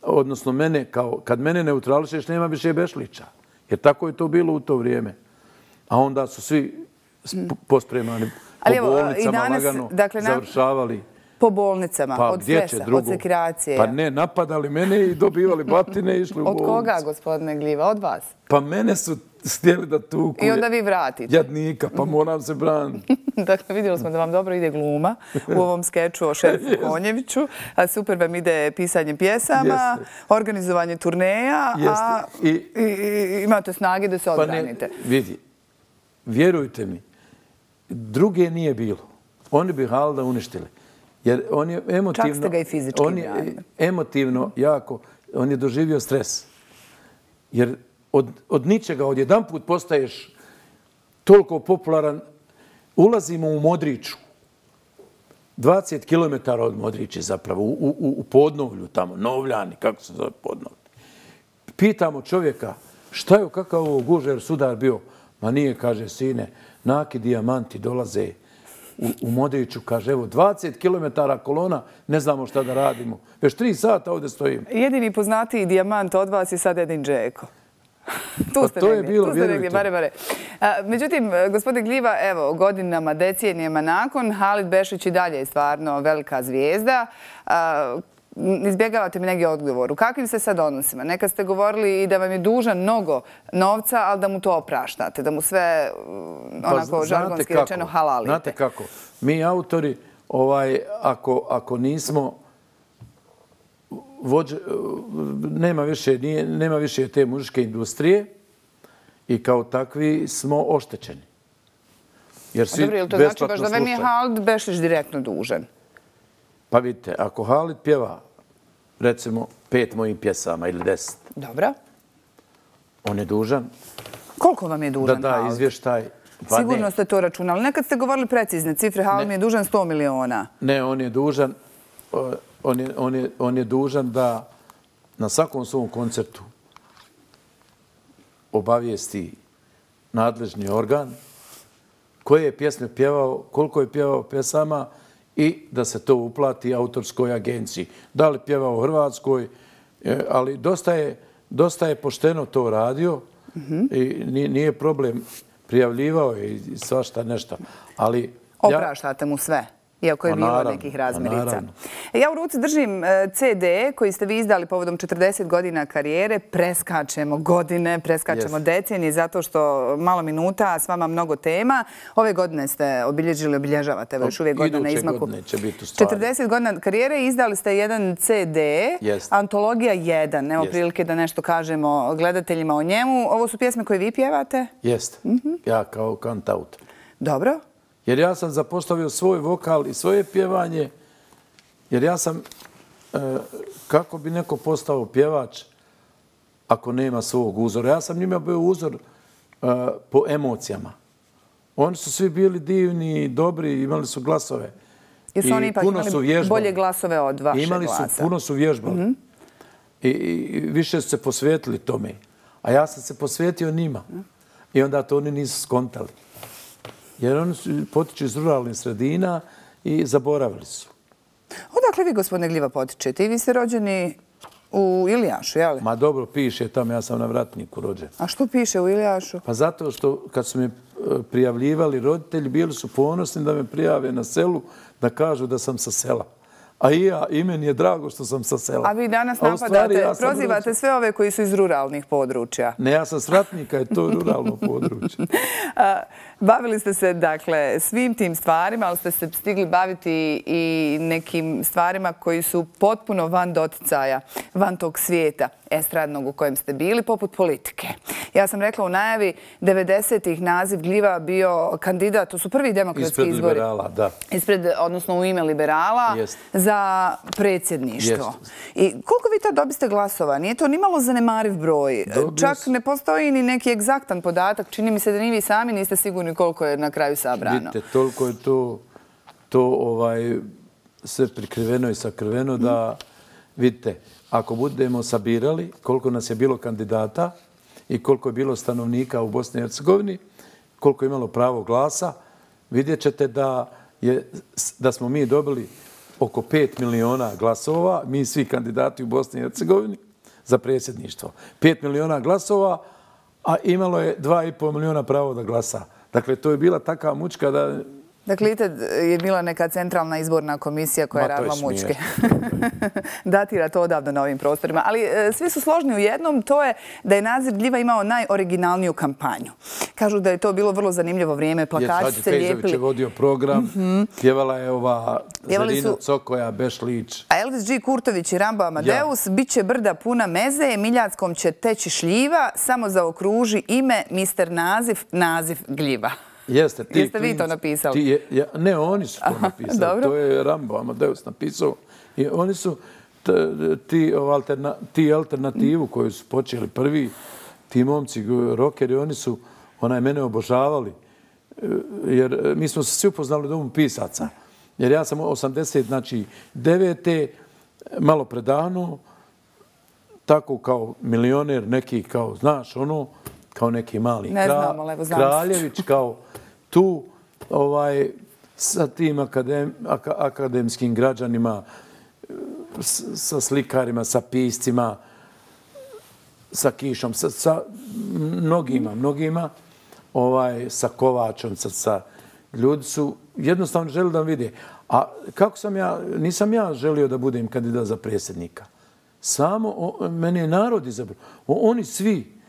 odnosno mene, kad mene neutrališeš, nema više Bešlića. Jer tako je to bilo u to vrijeme. A onda su svi pospremani po bolnicama lagano završavali. Po bolnicama, od stresa, od sekiracije. Pa ne, napadali mene i dobivali batine i išli u bolnicu. Od koga, gospodine Gljiva? Od vas? Pa mene su htjeli da tuku. I onda vi vratite. Jadnika, pa moram se braniti. Dakle, vidjeli smo da vam dobro ide gluma u ovom skeču o Šerifu Konjeviću. Super vam ide pisanje pjesama, organizovanje turneja, a imate snage da se odbranite. Vidi, vjerujte mi, druge nije bilo. Oni bi Halida uništili. Jer on je emotivno... Čak ste ga i fizički branili. Emotivno jako, on je doživio stres. Jer od ničega, odjedanput postaješ toliko popularan. Ulazimo u Modriču. 20 km od Modriče zapravo, u Podnovlju tamo, Novljani, kako se zove Podnovlje. Pitamo čovjeka, šta je, kakav ovo gužer sudar bio? Ma nije, kaže, sine, naki dijamanti dolaze u Modriču, kaže, evo, 20 km kolona, ne znamo šta da radimo. Već 3 sata ovdje stojimo. Jedini poznatiji dijamant od vas je sad Edin Džeko. Tu ste negdje, bare. Međutim, gospodin Gljiva, evo, godinama, decenijama nakon, Halid Bešlić i dalje je stvarno velika zvijezda. Izbjegavate mi neki odgovor. U kakvim se sad odnosima? Nekad ste govorili i da vam je dužan mnogo novca, ali da mu to opraštate, da mu sve, onako, žargonski rečeno, halalite. Znate kako? Mi autori, ako nismo nema više te muzičke industrije i kao takvi smo oštećeni. Dobro, ili to znači baš da vam je Halid Bešlić direktno dužan? Pa vidite, ako Halid pjeva, recimo, 5 mojih pjesama ili 10. Dobro. On je dužan. Koliko vam je dužan Halid? Da izvještaj. Sigurno ste to računali. Nekad ste govorili precizne cifre. Halid mi je dužan 100 miliona. Ne, on je dužan... On je dužan da na svakom svom koncertu obavijesti nadležni organ koje je pjesme pjevao, koliko je pjevao pjesama i da se to uplati autorskoj agenciji. Da li pjevao u Hrvatskoj, ali dosta je pošteno to radio i nije problem. Prijavljivao je i svašta nešto. Opraštate mu sve? Iako je bilo nekih razmirica. Ja u ruci držim CD koji ste vi izdali povodom 40 godina karijere. Preskačemo godine, preskačemo decenije, zato što malo minuta, a s vama mnogo tema. Ove godine ste obilježavate, evo još uvijek godina na izmaku. 40 godina karijere, izdali ste jedan CD, Antologija 1. Evo prilike da nešto kažemo gledateljima o njemu. Ovo su pjesme koje vi pjevate? Jeste, ja kao kantautor. Dobro. Jer ja sam zapostavio svoj vokal i svoje pjevanje, jer ja sam, kako bi neko postao pjevač ako nema svog uzora? Ja sam njima bio uzor po emocijama. Oni su svi bili divni, dobri, imali su glasove. Jesu oni ipak imali bolje glasove od vaše glasa? Puno su vježbali. I više su se posvetili tome. A ja sam se posvetio njima. I onda to oni nisu skontali. Jer oni potiču iz ruralnih sredina i zaboravili su. Odakle vi, gospodine Gljiva, potičete? I vi ste rođeni u Ilijašu, je li? Ma dobro, piše tamo, ja sam na Vratniku rođen. A što piše u Ilijašu? Pa zato što kad su me prijavljivali roditelji, bili su ponosni da me prijave na selu, da kažu da sam sa sela. A i meni je drago što sam sa sela. A vi danas napadate, prozivate sve ove koji su iz ruralnih područja. Ne, ja sam s Vratnika, je to ruralno područje. Bavili ste se, dakle, svim tim stvarima, ali ste se stigli baviti i nekim stvarima koji su potpuno van doticaja, van tog svijeta estradnog u kojem ste bili, poput politike. Ja sam rekla u najavi, 90-ih naziv Gljiva bio kandidat, to su prvi demokratski izbori. Ispred liberala, da. Odnosno u ime liberala za predsjedništvo. I koliko vi tad dobiste glasova? Nije to nimalo zanemariv broj. Čak ne postoji ni neki egzaktan podatak. Čini mi se da ni vi sami niste sigurni koliko je na kraju sabrano. Vidite, toliko je to sve prikriveno i sakriveno da, vidite, ako budemo sabirali koliko nas je bilo kandidata i koliko je bilo stanovnika u Bosni i Hercegovini, koliko je imalo pravo glasa, vidjet ćete da smo mi dobili oko 5 miliona glasova, mi svi kandidati u Bosni i Hercegovini, za predsjedništvo. 5 miliona glasova, a imalo je 2,5 miliona pravo da glasa. Dakle, to je bila taka mučka da... Dakle, je bila neka centralna izborna komisija koja je radila mučke. Datira to odavno na ovim prostorima. Ali svi su složni u jednom, to je da je naziv Gljiva imao najoriginalniju kampanju. Kažu da je to bilo vrlo zanimljivo vrijeme, plakači se lijepili. Fejzović je vodio program, pjevala je ova Zerina Cokoja, Bešlić. A Elvis G. Kurtović i Rambo Amadeus, bit će brda puna meze, Miljackom će teći šljiva, samo zaokruži ime, mister naziv Gljiva. Jeste vi to napisali? Ne, oni su to napisali. To je Rambo Amadeus napisao. I oni su ti alternativu koju su počeli prvi, ti momci, rokeri, oni su mene obožavali. Jer mi smo se svi upoznali u domu pisaca. Jer ja sam 89. malo predavno, tako kao milioner, neki kao, znaš, kao neki mali Kraljević, kao tu, sa tim akademskim građanima, sa slikarima, sa piscima, sa Kišom, sa mnogima, sa Kovačom, ljudi su jednostavno želi da vide. A kako nisam ja želio da budem kandidat za predsjednika. Samo mene je narod izabrao. Oni svi,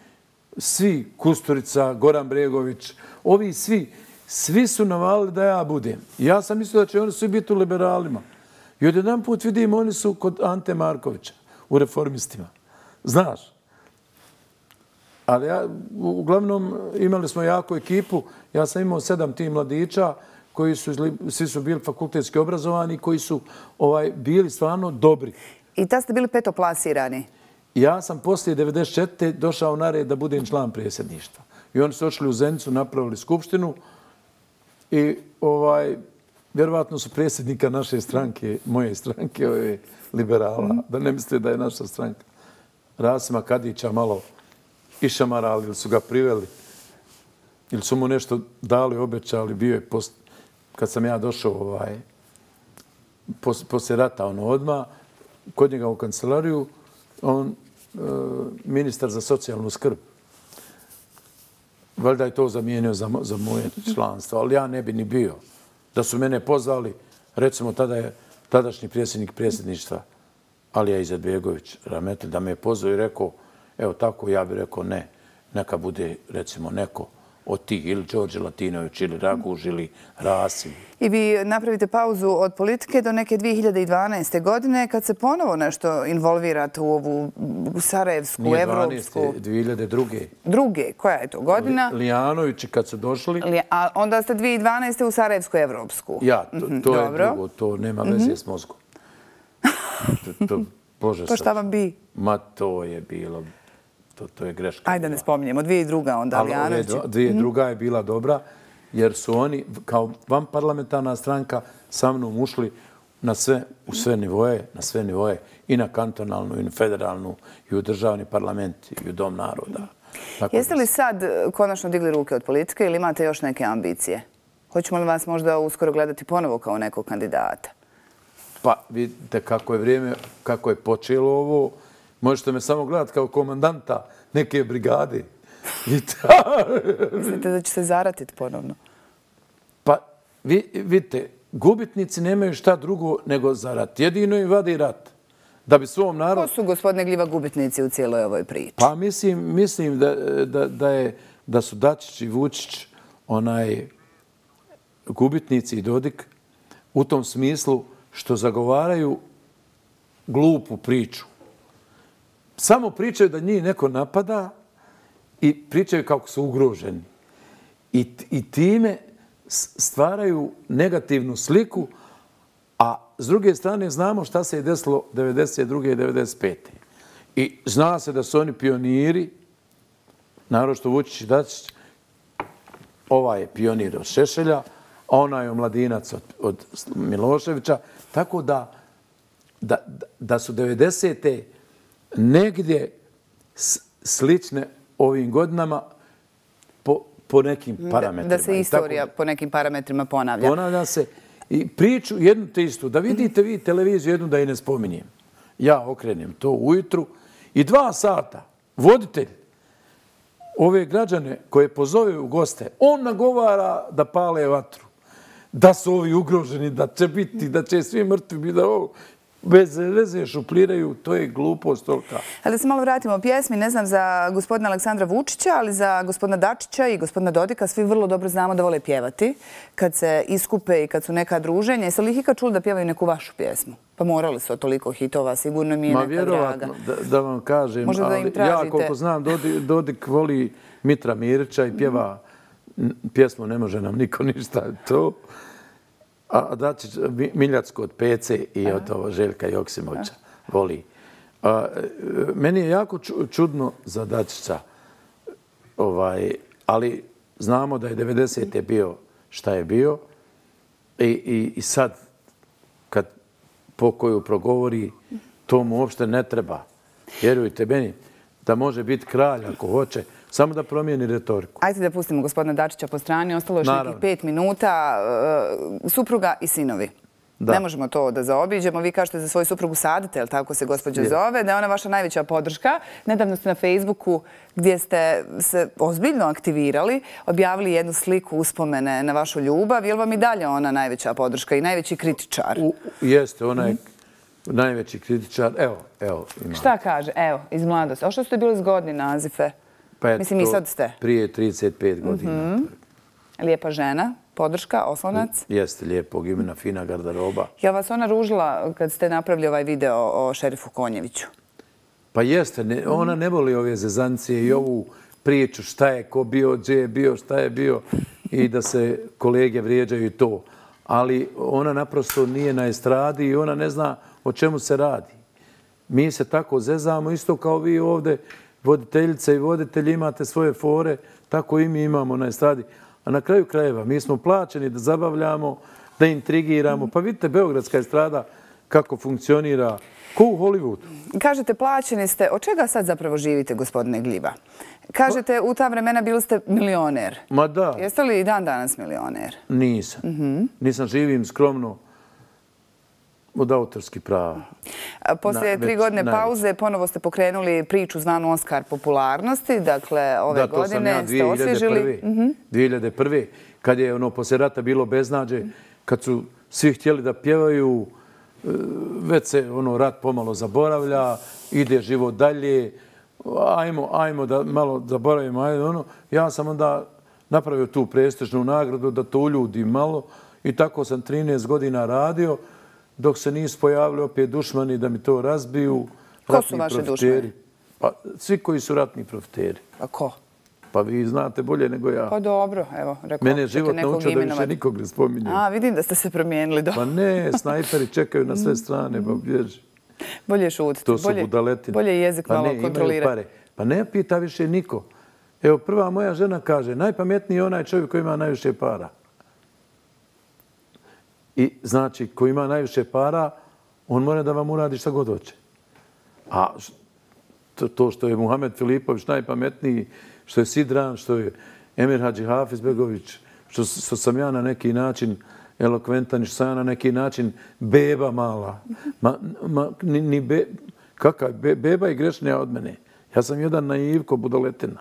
Kusturica, Goran Bregović, ovi svi su navalili da ja budem. Ja sam mislio da će oni svi biti u liberalima. I odjedan put vidim, oni su kod Ante Markovića, u Reformistima. Znaš? Ali uglavnom imali smo jaku ekipu. Ja sam imao 7 tih mladića koji svi su bili fakultetski obrazovani, koji su bili stvarno dobri. I tad ste bili petoplasirani? Ja sam poslije 94. došao na red da budem član predsjedništva. I oni su ošli u Zenicu, napravili skupštinu i vjerovatno su predsjednika naše stranke, moje stranke, liberala, da ne mislite da je naša stranka, Rasima Kadića malo išamarali ili su ga priveli ili su mu nešto dali, obećali, bio je kad sam ja došao poslije rata odmah, kod njega u kancelariju, on ministar za socijalnu skrb. Valjda je to zamijenio za moje članstvo, ali ja ne bi ni bio. Da su mene pozvali, recimo tada je tadašnji predsjednik predsjedništva Alija Izetbegović, Rahmetli, da me je pozvao i rekao, evo tako, ja bih rekao ne, neka bude recimo neko od tih, ili Đorđe Latinović, ili Raguž, ili Rasim. I vi napravite pauzu od politike do neke 2012. godine, kad se ponovo nešto involvirate u ovu sarajevsku, evropsku... Nije 12. 2002. Druge, koja je to godina? Lijanovići kad su došli... A onda ste 2012. u sarajevsku, evropsku. Ja, to je drugo, to nema veze s mozgom. To šta vam bi? Ma to je bilo... To je greška. Ajde ne spominjemo. 2002. onda Lijanović. 2002. je bila dobra, jer su oni kao vanparlamentarna stranka sa mnom ušli u sve nivoje, i na kantonalnu, i na federalnu, i u državni parlament, i u Dom naroda. Jeste li sad konačno digli ruke od politike ili imate još neke ambicije? Hoćemo li vas možda uskoro gledati ponovo kao nekog kandidata? Pa vidite kako je vrijeme, kako je počelo ovo. Možete me samo gledati kao komandanta neke brigade. Mislite da će se zaratiti ponovno? Pa, vidite, gubitnici nemaju šta drugo nego za rat. Jedino im vadi rat. Da bi svom narodu... Ko su, gospodine Gljiva, gubitnici u cijeloj ovoj priči? Pa mislim da su Dačić i Vučić gubitnici i Dodik u tom smislu što zagovaraju glupu priču. Samo pričaju da njih neko napada i pričaju kako su ugroženi. I time stvaraju negativnu sliku, a s druge strane znamo šta se je desilo 1992. i 1995. I zna se da su oni pioniri, naročito Vučić i Dačić, ovaj je pionir od Šešelja, a onaj je omladinac od Miloševića, tako da su 90. negdje slične ovim godinama po nekim parametrima. Da se istorija po nekim parametrima ponavlja. Ponavlja se i priču jednu te istu. Da vidite vi televiziju jednu da i ne spominjem. Ja okrenem to ujutru i 2 sata voditelj ove građane koje pozove u goste, on nagovara da pale vatru. Da su ovi ugroženi, da će biti, da će svi mrtvi biti, da ovo... bez veze šupliraju, to je glupost tolika. Ali da se malo vratimo o pjesmi, ne znam za gospodina Aleksandra Vučića, ali za gospodina Dačića i gospodina Dodika svi vrlo dobro znamo da vole pjevati kad se iskupe i kad su neka druženja. Jeste li ih ikad čuli da pjevaju neku vašu pjesmu? Pa morali su od toliko hitova, sigurno mi je neka draga. Ma vjerovatno, da vam kažem, ali ja koliko znam, Dodik voli Mitra Mirića i pjeva pjesmu Ne može nam niko ništa, to... A Dačić, Miljacko od Pece i od Željka Joksimovića voli. Meni je jako čudno za Dačića Ali znamo da je 90. bio šta je bio i sad kad pokoju progovori, to mu uopšte ne treba. Vjerujte meni da može biti kralj ako hoće, samo da promijeni retoriku. Ajde da pustimo gospodina Dačića po strani. Ostalo još nekih 5 minuta. Supruga i sinovi. Ne možemo to da zaobiđemo. Vi kažete za svoju suprugu Sadete, je li tako se gospođa zove, da je ona vaša najveća podrška. Nedavno ste na Facebooku, gdje ste se ozbiljno aktivirali, objavili jednu sliku uspomene na vašu ljubav. Je li vam i dalje ona najveća podrška i najveći kritičar? Jeste, ona je najveći kritičar. Evo, ima. Šta kaže? Evo, iz mladosti. O što ste bili zgodni nazive? Mislim, i sad ste. Prije 35 godina. Lijepa žena, podrška, oslonac. Jeste, lijepog imena, fina garderoba. Je li vas ona ružila kad ste napravili ovaj video o šerifu Konjeviću? Pa jeste, ona ne voli ove zezancije i ovu priču šta je ko bio, gdje je bio, šta je bio i da se kolege vrijeđaju i to. Ali ona naprosto nije na estradi i ona ne zna o čemu se radi. Mi se tako zezamo, isto kao vi ovdje, voditeljice i voditelji, imate svoje fore, tako i mi imamo na estradi. A na kraju krajeva mi smo plaćeni da zabavljamo, da intrigiramo. Pa vidite, beogradska estrada kako funkcionira, ko u Hollywoodu. Kažete, plaćeni ste. Od čega sad zapravo živite, gospodine Gljiva? Kažete, u ta vremena bili ste milioner. Ma da. Jeste li i dan danas milioner? Nisam. Nisam, živim skromno od autorskih prava. Poslije 3 godine pauze ponovo ste pokrenuli priču zvanu Oskar popularnosti. Dakle, ove godine ste osvježili. 2001. Kad je poslije rata bilo beznađe, kad su svi htjeli da pjevaju, već se rat pomalo zaboravlja, ide život dalje, ajmo da malo zaboravimo. Ja sam onda napravio tu prestižnu nagradu da to uljudim malo i tako sam 13 godina radio, dok se nisu pojavili opet dušmani da mi to razbiju. Ko su vaše dušmani? Pa svi koji su ratni profiteri. A ko? Pa vi znate bolje nego ja. Pa dobro, evo, rekao. Mene je život naučio da više nikog ne spominjem. A, vidim da ste se promijenili. Pa ne, snajperi čekaju na sve strane, pa bježi. Bolje šutiti. To su budaletine. Bolje jezik malo kontrolirati. Pa ne pita više niko. Evo, prva moja žena kaže, najpametniji je onaj čovjek koji ima najviše para. I znači, ko ima najviše para, on mora da vam uradi šta god hoće. A to što je Muhamed Filipović najpametniji, što je Sidran, što je Emir Hadži Hafizbegović, što sam ja na neki način elokventan, što sam ja na neki način beba mala. Kakav? Beba je grešnija od mene. Ja sam jedan naivko budoletina.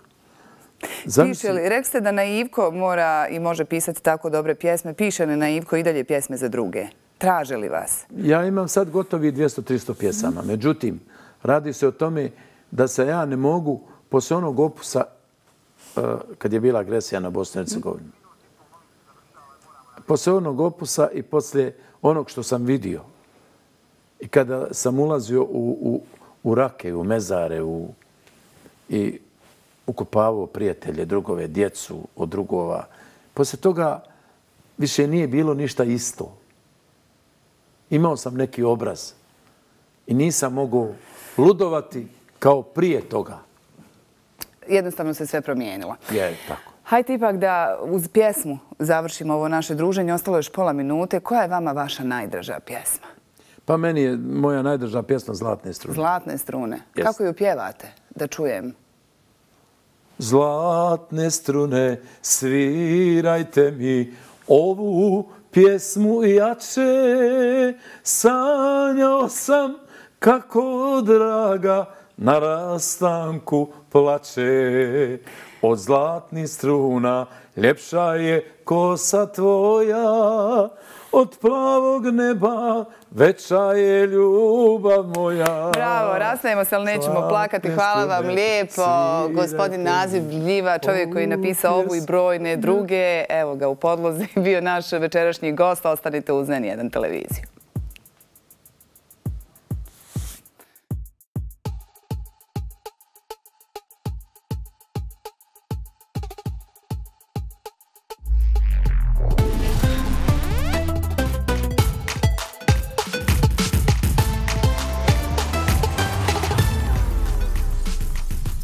Piše li, rekli ste da naivko mora i može pisati tako dobre pjesme, piše li naivko i dalje pjesme za druge? Traže li vas? Ja imam sad gotovi 200-300 pjesama. Međutim, radi se o tome da se ja ne mogu poslije onog opusa, kad je bila agresija na Bosnu i Hercegovinu, poslije onog opusa i poslije onog što sam vidio i kada sam ulazio u rake, u mezare i ukopavao prijatelje, drugove, djecu od drugova. Poslije toga više nije bilo ništa isto. Imao sam neki obraz i nisam mogao ludovati kao prije toga. Jednostavno se sve promijenilo. Je, tako. Hajde ipak da uz pjesmu završimo ovo naše druženje. Ostalo još pola minute. Koja je vama vaša najdraža pjesma? Pa meni je moja najdraža pjesma Zlatne strune. Zlatne strune. Kako ju pjevate? Da čujem. Zlatne strune, svirajte mi ovu pjesmu jače. Sanjao sam kako draga na rastanku plače. Od zlatnih struna ljepša je kosa tvoja, od plavog neba veća je ljubav moja. Bravo, rastajemo se, ali nećemo plakati. Hvala vam lijepo. Gospodin Nazif Gljiva, čovjek koji je napisao ovu i brojne druge. Evo ga u podlozi, bio naš večerašnji gost. Ostanite uz N1 televiziju.